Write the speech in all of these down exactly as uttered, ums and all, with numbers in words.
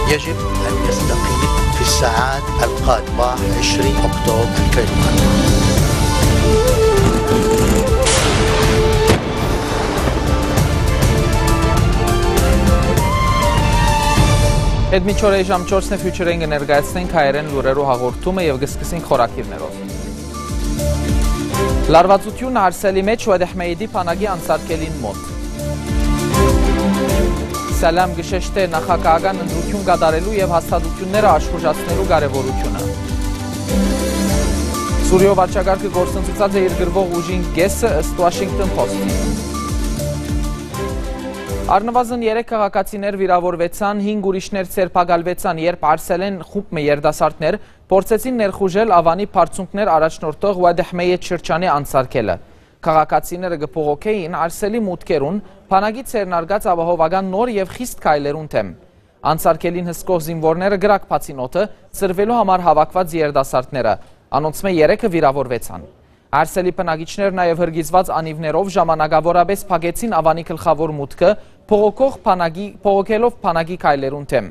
يجب أن يستقيل في الساعات القادمة، عشرين أكتوبر ألفين وأربعة. Հետ մինչ օրը ժամ չորսն է, Future-ին կը ներկայացնենք հայերէն լուրերու հաղորդումը եւ կը սկսենք խորագիրներով։ Լարուածութիւն Արսելի մէջ Ուեդեհմեյդի բանակի անցարկելին մօտ։ Սալամ կը շեշտէ նախագահական ընտրութիւն կատարելու եւ հաստատութիւնները աշխուժացնելու կարեւորութիւնը։ Սուրիոյ վարչակարգը գործընծուցած է իր գրվող ուժին կէսը, ըստ Washington Post-ի։ Առնուազն երեք քաղաքացիներ վիրաւորուեցան, հինգ ուրիշներ ձերբակալուեցան, երբ Արսելէն խումբ մը երիտասարդներ փորձեցին ներխուժել Ավանի բարձունքներ առաջնորդող Ուեդեհմեյետ շրջանի անցարկելը։ Քաղաքացիները կը բողոքէին Արսելի մուտքերուն, բանակի ձեռնարկած ապահովական նոր եւ խիստ քայլերուն դէմ։ Անցարկելին հսկող զինուորները կրակ բացին օդը, ցրուելու համար հաւաքուած երիտասարդները։ Անոնցմէ երեքը վիրաւորուեցան։ Արսելի բնակիչներ նաեւ հրկիզուած անիւներով ժամանակաւորաբէս փակեցին Ավանի գլխաւոր մուտքը, բողոքող բանակի, բողոքելով բանակի քայլերուն դէմ։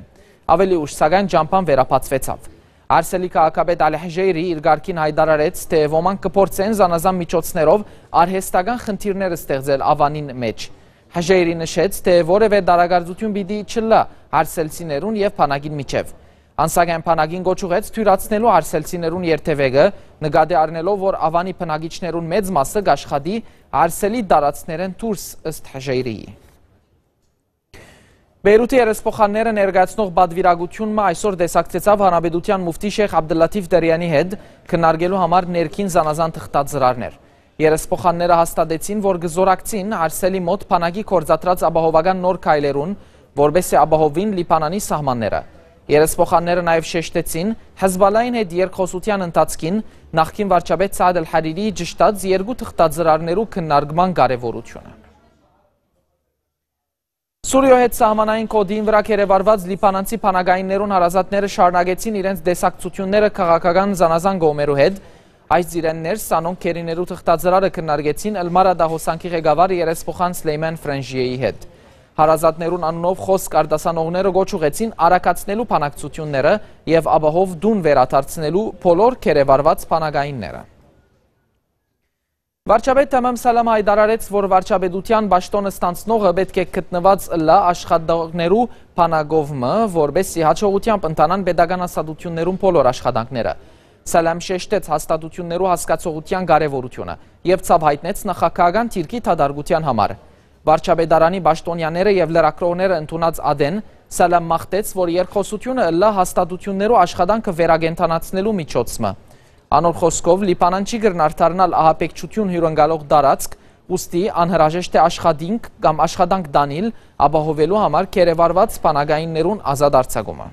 Աւելի ուշ, սակայն, ճամբան վերաբացուեցաւ։ Արսելի քաղաքապետ Ալի Հժեյրի իր կարգին յայտարարեց, թէ ոմանք կը փորձեն զանազան միջոցներով արհեստական խնդիրներ ստեղծել Ավանին մէջ։ Հժեյրի նշեց, թէ որեւէ դարակարծութիւն պիտի չըլլայ արսելցիներուն եւ բանակին միջեւ։ Ան սակայն բանակին կոչ ուղղեց թոյրացնելու արսելցիներուն երթեւեկը, նկատի առնելով, որ Ավանի բնակիչներուն մեծ մասը կ'աշխատի Արսելի տարածքներէն դուրս, ըստ Հժեյրիի։ Բեյրութի երեսփոխանները ներկայացնող պատվիրակութիւն մը այսօր տեսակցեցաւ Հանրապետութեան մուֆտի Շեյխ Աբդուլլաթիֆ Դերեանի հետ, քննարկելու համար ներքին զանազան թղթածրարներ։ Երեսփոխանները հաստատեցին, որ կը զօրակցին Արսելի մօտ բանակի գործադրած ապահովական նոր քայլերուն, որպէս զի ապահովին Լիբանանի սահմանները։ Երեսփոխանները նաեւ շեշտեցին Հեզբալլային հետ երկխօսութեան ընթացքին նախկին վարչապետ Սաադ Ալ Հարիրիի ճշտած երկու թղթածրարներու քննարկման կարեւորութիւնը։ Սուրիոյ հետ սահմանային կոտին վրայ գերեվարուած լիբանանցի բանակայիններուն հարազատները շարունակեցին իրենց տեսակցութիւնները քաղաքական զանազան կողմերու հետ։ Այս ծիրէն ներս անոնք գերիներու թղթածրարը քննարկեցին Ըլմարատա հոսանքի ղեկավար երեսփոխան Սլեյման Ֆրանժիեի հետ։ Հարազատներուն անունով խօսք արտասանողները կոչ ուղղեցին արագացնելու բանակցութիւնները եւ ապահով տուն վերադարձնելու բոլոր գերեվարուած բանակայինները։ Վարչապետ Թամամ Սալամ յայտարարեց, որ վարչապետութեան պաշտօն ստանձնողը պէտք է գտնուած ըլլայ աշխատողներու բանակով մը, որպէս զի յաջողութեամբ ընթանան պետական հաստատութիւններուն բոլոր աշխատանքները։ Սալամ շեշտեց հաստատութիւններու հասկացողութեան կարեւորութիւնը եւ ցաւ յայտնեց նախագահական դիրքի դատարկութեան համար։ Վարչապետարանի պաշտօնեաները եւ լրագրողները ընդունած ատեն Սալամ մաղթեց, որ երկխօսութիւնը ըլլայ հաստատութիւններու աշխատանքը վերակենդանացնելու միջոց մը։ Անոր խօսքով, Լիբանան չի կրնար դառնալ ահաբեկչութիւն հիւրընկալող տարածք, ուստի անհրաժեշտ է աշխատինք կամ աշխատանք տանիլ, ապահովելու համար գերեվարուած բանակայիններուն ազատ արձակումը։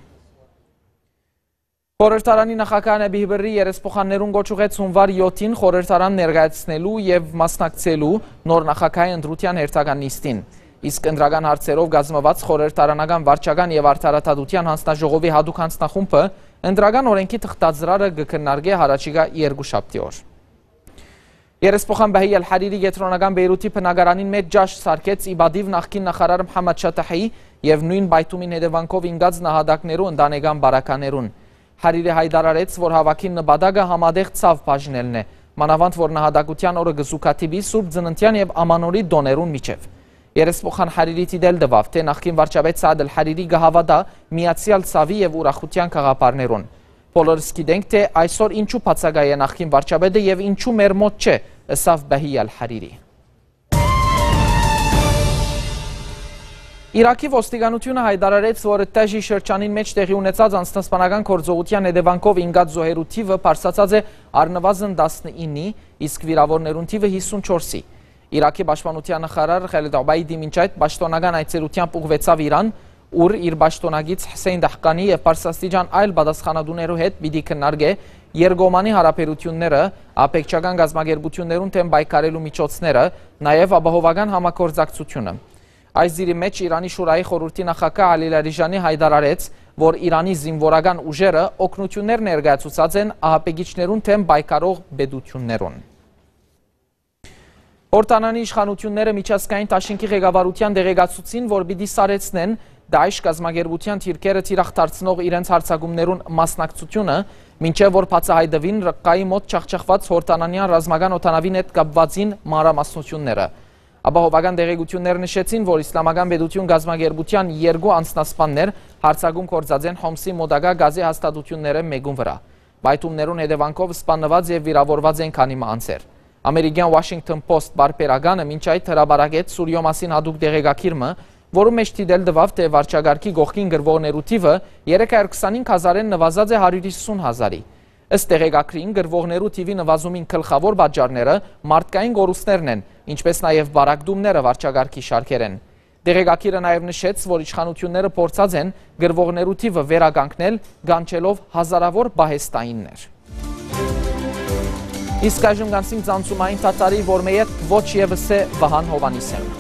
Խորհրդարանի նախագահ Նեբիհ Բըրրի երեսփոխաններուն կոչ ուղղեց հունուար յոթին խորհրդարան ներկայացնելու եւ մասնակցելու նոր նախագահի ընտրութեան հերթական նիստին։ Իսկ ընտրական հարցերով կազմուած խորհրդարանական վարչական եւ արդարադատութեան հանձնաժողովի յատուկ հանձնախումբը ընտրական օրենքի թղթածրարը կը քննարկէ յառաջիկայ երկուշաբթի օր։ Երեսփոխան Բահի Ալ Հարիրի կեդրոնական Բեյրութի բնակարանին մէջ ճաշ սարքեց ի պատիւ նախկին նախարար Մհամմադ Շաթահի եւ նոյն պայթումին հետեւանքով ինկած նահատակներու ընտանեկան բարականերուն։ Հարիրի յայտարարեց, որ հաւաքին նպատակը համատեղ ցաւ բաժնելն է, մանաւանդ որ նահատակութեան օրը կը զուգադիպի Սուրբ Ծննդեան եւ Ամանորի տօներուն միջեւ։ Երեսփոխան Հարիրի դիտել տուաւ, թէ նախկին վարչապետ Սաադ Ալ Հարիրի կը հաւատայ միացեալ ցաւի եւ ուրախութեան գաղափարներուն։ Բոլորս գիտենք, թէ այսօր ինչու բացակայ է նախկին վարչապետը եւ ինչու մեր մօտ չէ, ըսաւ Բահի Ալ Հարիրի։ Իրաքի ոստիկանութիւնը յայտարարեց, որ Տեժի շրջանին մէջ տեղի ունեցած անձնասպանական գործողութեան հետեւանքով ինկած զոհերու թիւը բարձրացած է առնուազն տասնիննի, իսկ վիրաւորներուն թիւը յիսունչորսի։ Իրաքի պաշտպանութեան նախարար Խալիդ Օբայդի մինչ այդ պաշտօնական այցելութեամբ ուղղուեցաւ Իրան, ուր իր պաշտօնակից Հսեյն Դահկանի եւ բարձրաստիճան այլ պատասխանատուներու հետ պիտի քննարկէ երկկողմանի յարաբերութիւնները, աբեկչական կազմակերպութիւններուն դէմ պայքարելու միջոցները, նաեւ ապահովական համագործակցութիւնը։ Այս դիրի մէջ Իրանի Շուրայի խորհուրդի նախագահ Ալի Լարիժանի յայտարարեց, որ Իրանի զինուորական ուժերը օգնութիւններ ներկայացուցած են ահաբեկիչներուն դէմ պայքարող պետութիւններուն։ Յորդանանի իշխանութիւնները միջազգային դաշինքի ղեկավարութեան տեղեկացուցին, որ պիտի սառեցնեն Դաիշ կազմակերպութեան դիրքերը թիրախ դարձնող իրենց հարձակումներուն մասնակցությունը, մինչեւ որ բացայայտուին Ռղկայի մօտ ջախջախուած Յորդանանեան ռազմական օդանաւին հետ կապուածին մանրամասնութիւնները։ Ապահովական տեղեկութիւններ նշեցին, որ Իսլամական պետութիւն կազմակերպութեան երկու անձնասպաններ հարձակում գործած են Հոմսի մօտակայ Գազի հաստատութիւններէն մէկուն վրայ։ Պայթումներուն հետեւանքով սպաննուած եւ վիրաւորուած են քանի մը անձեր։ Ամերիկեան Washington Post պարբերականը մինչ այդ հրապարակեց Սուրիոյ մասին յատուկ տեղեկագիր մը, որուն մէջ դիտել տուաւ, թէ վարչակարգի կողքին կռուողներու թիւը երեք հարիւր քսանհինգ հազարէն նուազած է հարիւր հիսուն հազարի։ Ըստ տեղեկագրին, կռուողներու թիւի նուազումին գլխաւոր պատճառները մարդկային կորուստներն են, ինչպէս նաեւ պառակտումները վարչակարգի շարքերէն։ Տեղեկագիրը նաեւ նշեց, որ իշխանութիւնները փորձած են կռուողներու թիւը վերականգնել՝ կանչելով հազարաւոր պահեստայիններ։ Իսկ այժմ գանցինք ցանցումային թաթարի, որ մը ետք ոչ եւս է Վահան Հովանիսեան։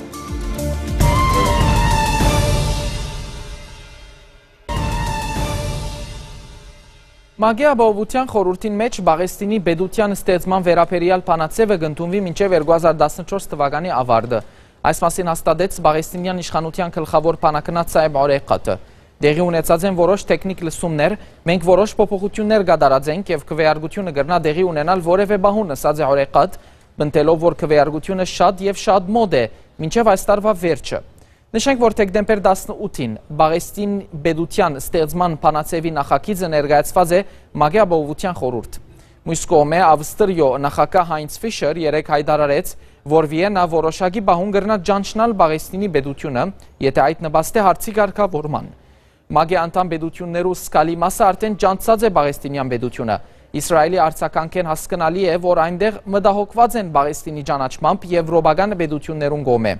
ՄԱԿ-ի Ապահովութեան խորհուրդին մէջ Պաղեստինի պետութեան ստեղծման վերաբերեալ բանաձեւը կ'ընդունուի մինչեւ երկու հազար տասնչորս թուականի աւարտը։ Այս մասին հաստատեց պաղեստինեան իշխանութեան գլխաւոր բանագնաց Սայեբ Օրեկատը։ «Տեղի ունեցած են որոշ թեքնիք լսումներ, մենք որոշ փոփոխութիւններ կատարած ենք եւ քվեարկութիւնը կրնայ տեղի ունենալ որեւէ պահուն», ըսած է Օրեկատ, պնդելով, որ քվեարկութիւնը շատ եւ շատ մօտ է, մինչեւ այս տարուայ վերջը։ Նշենք, որ դեկտեմբեր տասնութին Պաղեստին պետութեան ստեղծման բանաձեւի նախագիծը ներկայացուած է ՄԱԿ-ի Ապահովութեան խորհուրդ։ Միւս կողմէ, Ավստրիոյ նախագահ Հայնց Ֆիշեր երեկ յայտարարեց, որ Վիեննա որոշակի պահուն կրնայ ճանչնալ Պաղեստինի պետութիւնը, եթէ այդ նպաստէ հարցի կարգաւորման։ ՄԱԿ-ի անդամ պետութիւններու զգալի մասը արդէն ճանչցած է պաղեստինեան պետութիւնը։ Իսրայէլի արձագանքէն հասկնալի է, որ այնտեղ մտահոգուած են Պաղեստինի ճանաչմամբ եւրոպական պետութիւններուն կողմէ։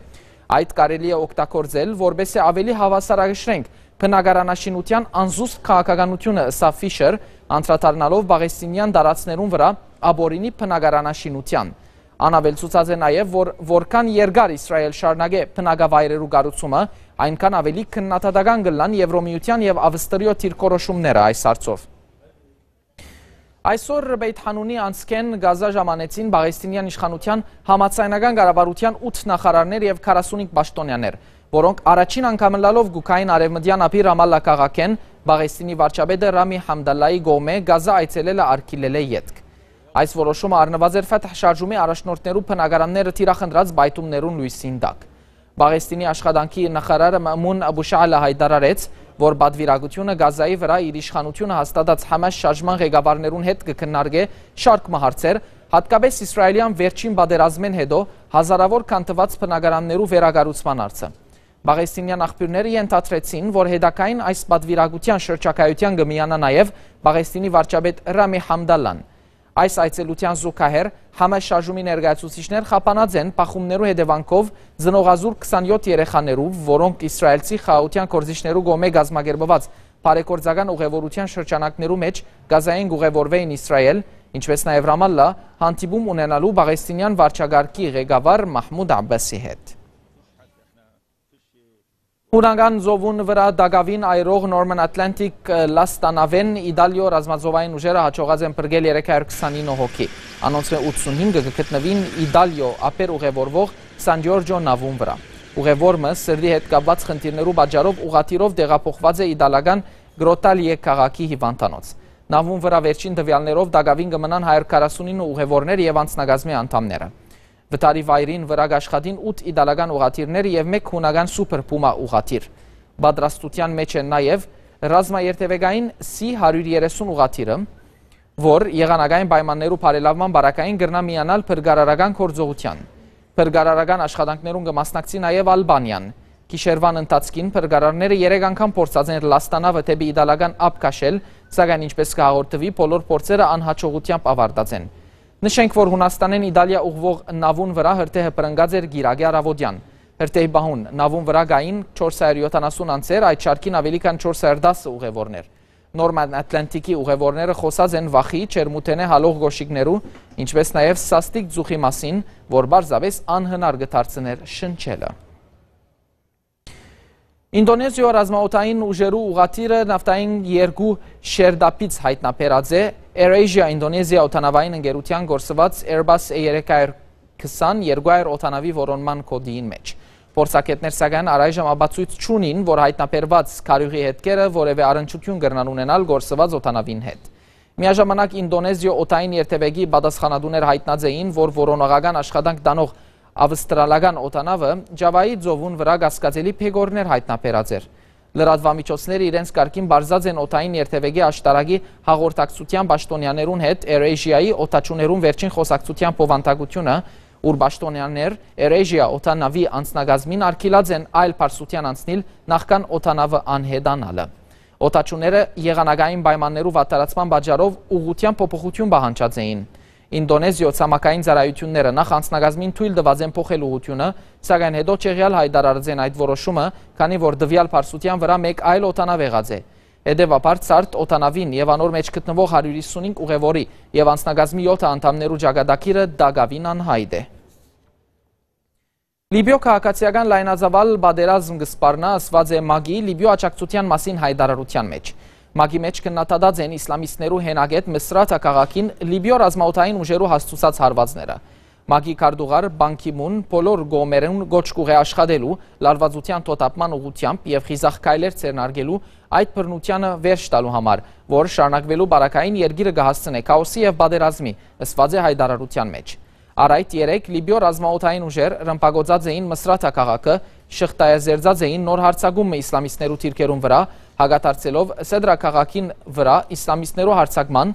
Այդ կարելի է օգտագործել, որպէս զի աւելի հաւասարակշռենք բնակարանաշինութեան անզուսպ քաղաքականութիւնը, ըսաւ Ֆիշեր, անդրադառնալով պաղեստինեան տարածքներուն վրայ ապօրինի բնակարանաշինութեան։ Ան աւելցուցած է նաեւ, որ որքան երկար Իսրայէլ շարունակէ բնակավայրերու կառուցումը, այնքան աւելի քննադատական կ'ըլլան Եվրոմիութեան եւ Ավստրիոյ դիրքորոշումները այս հարցով։ Այսօր Բեյթ Հանունի անցքէն Գազա ժամանեցին պաղեստինեան իշխանութեան համաձայնական կառավարութեան ութ նախարարներ եւ քառասունհինգ պաշտօնեաներ, որոնք առաջին անգամ ըլլալով կու գային արեւմտեան ափի Ռամալլա քաղաքէն, Պաղեստինի վարչապետը Ռամի Համդալլայի կողմէ Գազա այցելելը արգիլելէ ետք։ Այս որոշումը առնուած էր Ֆաթհ շարժումի առաջնորդներու բնակարանները թիրախ ընտրած պայթումներուն լոյսին տակ։ Պաղեստինի աշխատանքի նախարարը Մաամուն Աբուշալը յայտարարեց, որ պատվիրակութիւնը Գազայի վրայ իր իշխանութիւնը հաստատած Համաս շարժման ղեկավարներուն հետ կը քննարկէ շարք մը հարցեր, յատկապէս իսրայէլեան վերջին պատերազմէն յետոյ հազարաւոր քանդուած բնակարաններու վերակառուցման հարցը։ Պաղեստինեան աղբիւրները ենթադրեցին, որ հետագային այս պատվիրակութեան շրջագայութեան կը միանայ նաեւ Պաղեստինի վարչապետ Ռամի Համդալլան։ Այս այցելութեան զուգահեռ Համաս շարժումի ներկայացուցիչներ խափանած են բախումներու հետեւանքով ծնողազուրկ քսանյոթ երեխաներու, որոնք իսրայէլցի խաղաղութեան գործիչներու կողմէ կազմակերպուած բարեգործական ուղևորութեան շրջանակներու մէջ Գազային կ'ուղևորուէին Իսրայէլ, ինչպէս նաեւ Ռամալլա, հանդիպում ունենալու պաղեստինեան վարչակարգի ղեկավար Մահմուդ Աբբասի հետ։ Հունական ծովուն վրայ տակաւին այրող Norman Atlantic լաստանաւէն Իտալիոյ ռազմածովային ուժերը յաջողած են փրկել երեք հարիւր քսանինը հոգի։ Անոնցմէ ութսունհինգը կը գտնուին Իտալիոյ ափեր ուղևորվող San Giorgio նաւուն վրայ։ Ուղևոր մը սրտի հետ կապուած խնդիրներու պատճառով ուղղաթիռով տեղափոխուած է իտալական Grottaglie քաղաքի հիւանդանոց։ Նաւուն վրայ վերջին տուեալներով տակաւին կը մնան հարիւր քառասունինը ուղևորներ եւ անձնակազմի անդամները։ Վթարի վայրին վրայ կ'աշխատին ութ իտալական ուղղաթիռներ եւ մէկ հունական Super Puma ուղղաթիռ։ Պատրաստութեան մէջ են նաեւ ռազմաերթեւեկային C հարիւր երեսուն ուղղաթիռը, որ եղանակային պայմաններու բարելաւման պարագային կրնայ միանալ փրկարարական գործողութեան։ Փրկարարական աշխատանքներուն կը մասնակցի նաեւ Ալբանիան։ Գիշերուան ընթացքին փրկարարները երեք անգամ փորձած են լաստանաւը դէպի իտալական ափ քաշել, սակայն, ինչպէս կը հաղորդուի, բոլոր փորձերը անյաջողութեամբ աւարտած են։ Նշենք, որ Յունաստանէն Իտալիա ուղղուող նաւուն վրայ հրդեհը բռնկած էր կիրակի առաւօտեան։ Հրդեհի պահուն նաւուն վրայ կային չորս հարիւր յոթանասուն անձեր, այդ շարքին աւելի քան չորս հարիւր տասը ուղևորներ։ Norman Atlantic-ի ուղևորները խօսած են վախի, ջերմութենէ հալող կոշիկներու, ինչպէս նաեւ սաստիկ ծուխի մասին, որ պարզապէս անհնար կը դարձնէր շնչելը։ Ինտոնեզիոյ ռազմաօդային ուժերու ուղղաթիռը նավթային երկու շերտափից յայտնաբերած է։ AirAsia Indonesia օդանաւային ընկերութեան կորսուած Airbus A երեք հարիւր քսան երկու հարիւր օդանաւի որոնման կոդին մէջ։ Փորձագէտներ, սակայն, առայժմ ապացոյց չունին, որ յայտնաբերուած քարիւղի հետքերը որեւէ առնչութիւն կրնան ունենալ կորսուած օդանաւին հետ։ Միաժամանակ Ինդոնեզիոյ օդային երթեւեկի պատասխանատուներ յայտնած էին, որ որոնողական աշխատանք տանող ավստրալական օդանաւը Ջավայի ծովուն վրայ կասկածելի բեկորներ յայտնաբերած էր։ Լրատուամիջոցները իրենց կարգին պարզած են օդային երթեւեկի աշտարակի հաղորդակցութեան պաշտօնեաներուն հետ Air Asia-ի օդաչուներուն վերջին խօսակցութեան բովանդակութիւնը, ուր պաշտօնեաներ Air Asia օդանաւի անձնակազմին արգիլած են այլ պարսութեան անցնիլ նախքան օդանաւը անհետանալը։ Օդաչուները եղանակային պայմաններու վատթարացման պատճառով ուղղութեան փոփոխութիւն պահանջած էին։ Ինդոնեզիոյ ցամաքային ծառայութիւնները նախ անձնակազմին թոյլ տուած են փոխել ուղղութիւնը, սակայն հետո չեղեալ յայտարարած են այդ որոշումը, քանի որ տուեալ պարսութեան վրայ մէկ այլ օդանաւ եղած է։ Հետեւաբար, ցարդ օդանաւին եւ անոր մէջ գտնուող հարիւր հիսունհինգ ուղեւորի եւ անձնակազմի եօթը անդամներու ճակատագիրը տակաւին անյայտ է։ Լիբիոյ քաղաքացիական լայնածաւալ պատերազմ կը սպառնայ, ըսուած է մակի Լիբիոյ աջակցութեան մասին յայտարարութեան մէջ։ Մակի մէջ քննադատած են իսլամիստներու հենակետ Մսրաթա քաղաքին Լիբիոյ ռազմաօդային ուժերու հասցուցած հարուածները։ Մակի քարտուղար Պան Գի Մուն բոլոր կողմերուն կոչ կ'ուղղէ աշխատելու լարուածութեան թոթափման ուղղութեամբ եւ խիզախ քայլեր ձեռնարկելու այդ բռնությանը վերջ տալու համար, որ շարունակուելու պարագային երկիրը կը հասցնէ քաոսի եւ պատերազմի, ըսուած է յայտարարութեան մէջ։ Առ այդ երեկ Լիբիոյ ռազմաօդային ուժեր ռմբակոծած էին Մսրաթա քաղաքը, շղթայազերծած էին նոր հարձակում մը իսլամիստներու դիրքերուն վրայ, հակադարձելով Սեդրա քաղաքին վրայ իսլամիստներու հարձակման,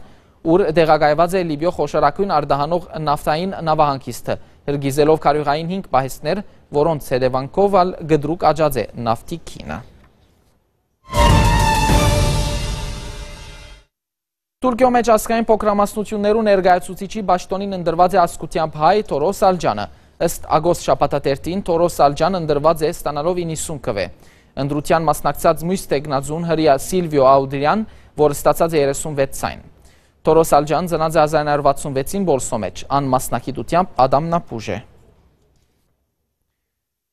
ուր տեղակայուած է Լիբիոյ խոշորագոյն արտահանող նավթային նավահանգիստը, հրկիզելով քարիւղային հինգ պահեստներ, որոնց հետեւանքով ալ կտրուկ աճած է նավթի գինը։ Թուրքիոյ մէջ ազգային փոքրամասնութիւններու ներկայացուցիչի պաշտօնին ընտրուած է ազգութեամբ հայ Թորոս Ալճանը։ Ըստ Ագոս շաբաթաթերթին, Թորոս Ալճան ընտրուած է ստանալով իննսուն քուէ։ Ընտրութեան մասնակցած միւս թեկնածուն, հրեայ Սիլվիո Աուդրեան, որ ստացած է երեսունվեց ձայն։ Թորոս Ալճան ծնած է հազար ինը հարիւր վաթսունվեցին Պոլսոյ մէջ։ Ան մասնագիտութեամբ ատամնաբոյժ է։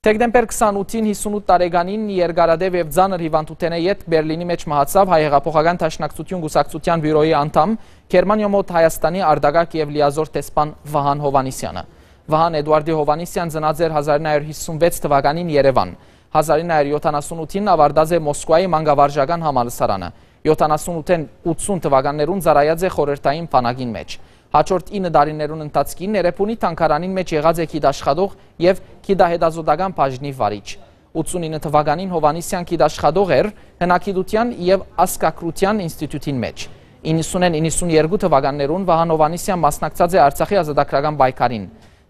Դեկտեմբեր քսանութին, հիսունութ տարեկանին երկարատեւ եւ ծանր հիւանդութենէ ետք Բերլինի մէջ մահացաւ Հայ հեղափոխական դաշնակցութիւն կուսակցութեան բիւրոյի անդամ, Գերմանիոյ մօտ Հայաստանի արտակարգ եւ լիազօր դեսպան Վահան Յովհաննիսեանը։ Վահան Էդուարդի Յովհաննիսեան ծնած էր հազար ինը հարիւր հիսունվեց թուականին Երեւան։ Հազար ինը հարիւր յոթանասունութին աւարտած է Մոսկուայի մանկավարժական համալսարանը։ Յոթանասունութեն ութսուն թուականներուն ծառայած է խորհրդային բանակին մէջ։ Հաջորդ ինը տարիներուն ընթացքին Էրեբունի թանգարանին մէջ եղած է գիտաշխատող եւ գիտահետազոտական բաժնի վարիչ։ Ութսունինը թուականին Յովհաննիսեան գիտաշխատող էր հնագիտութեան եւ ազգագրութեան ինստիտուտին մէջ։ Իննսունէն իննսուններկու թուականներուն Վահան Յովհաննիսեան մասնակցած է Արցախի ազատագրական պայքարին։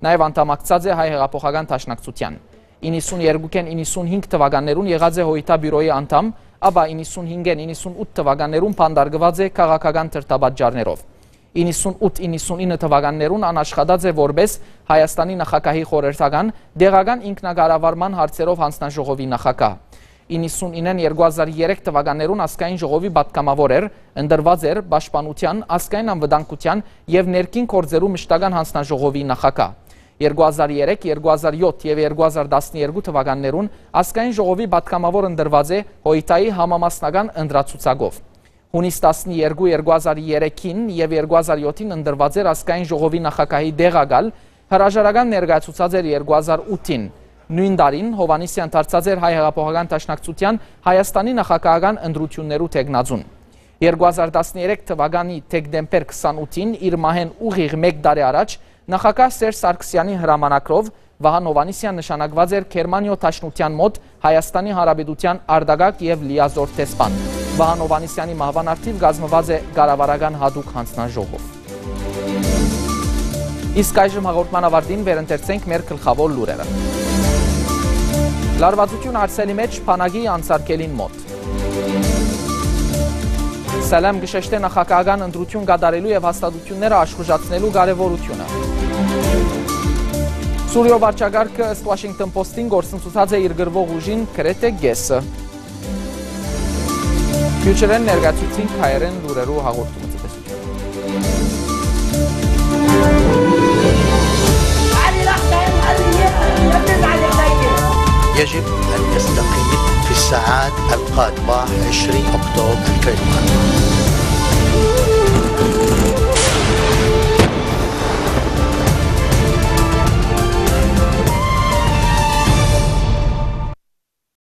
Նաեւ անդամակցած է Հայ հեղափոխական դաշնակցութեան։ Իննսուներկուքէն իննսունհինգ թուականներուն եղած է Հոյթա բիւրոյի անդամ, ապա իննսունհինգէն իննսունութ թուականներուն բանտարկուած է քաղաքական դրդապատճառներով։ Իննսունութ իննսունինը թուականներուն ան աշխատած է որպէս Հայաստանի նախագահի խորհրդական, տեղական ինքնակառավարման հարցերով յանձնաժողովի նախագահ։ Իննսունինէն երկու հազար երեք թուականներուն ազգային ժողովի պատգամաւոր էր, ընտրուած էր պաշտպանութեան, ազգային անվտանգութեան եւ ներքին գործերու մշտական յանձնաժողովի նախագահ։ Երկու հազար երեք, երկու հազար յոթ եւ երկու հազար տասներկու թուականներուն ազգային ժողովի պատգամաւոր ընտրուած է Հոյթայի համամասնական ընտրացուցակով։ Յունիս տասներկու, երկու հազար երեքին եւ երկու հազար յոթին ընտրուած էր ազգային ժողովի նախագահի տեղակալ, հրաժարական ներկայացուցած էր երկու հազար ութին։ Նոյն տարին Յովհաննիսեան դարձած էր Հայ հեղափոխական դաշնակցութեան Հայաստանի նախագահական ընտրութիւններու թեկնածուն։ Երկու հազար տասներեք թուականի դեկտեմբեր քսանութին, իր մահէն ուղիղ մէկ տարի առաջ, նախագահ Սերժ Սարգսեանի հրամանագրով Վահան Յովհաննիսեան նշանակուած էր Գերմանիոյ Դաշնութեան մօտ Հայաստանի Հանրապետութեան արտակարգ եւ լիազօր դեսպան։ Վահան Յովհաննիսեանի մահուան առթիւ կազմուած է կառավարական յատուկ յանձնաժողով։ Իսկ այժմ հաղորդման աւարտին վերընթերցենք մեր գլխաւոր լուրերը։ Լարուածութիւն հարցերու մէջ բանակի անսարքելին մօտ։ Սալամ կը շեշտէ նախագահական ընտրութիւն կատարելու եւ հաստատութիւնները աշխուժացնելու կարեւորութիւնը։ Սուրիոյ վարչակարգը, ըստ Washington Post-ին, կորսնցուցած է իր կռուող ուժին գրեթէ կէսը։ Քիչ ըրեն ներկայացուցին հայերէն լուրերու հաղորդումը, ցտեսութիւն։ يجب أن يستقيل في الساعات القادمة، عشرين أكتوبر ألفين وأربعة.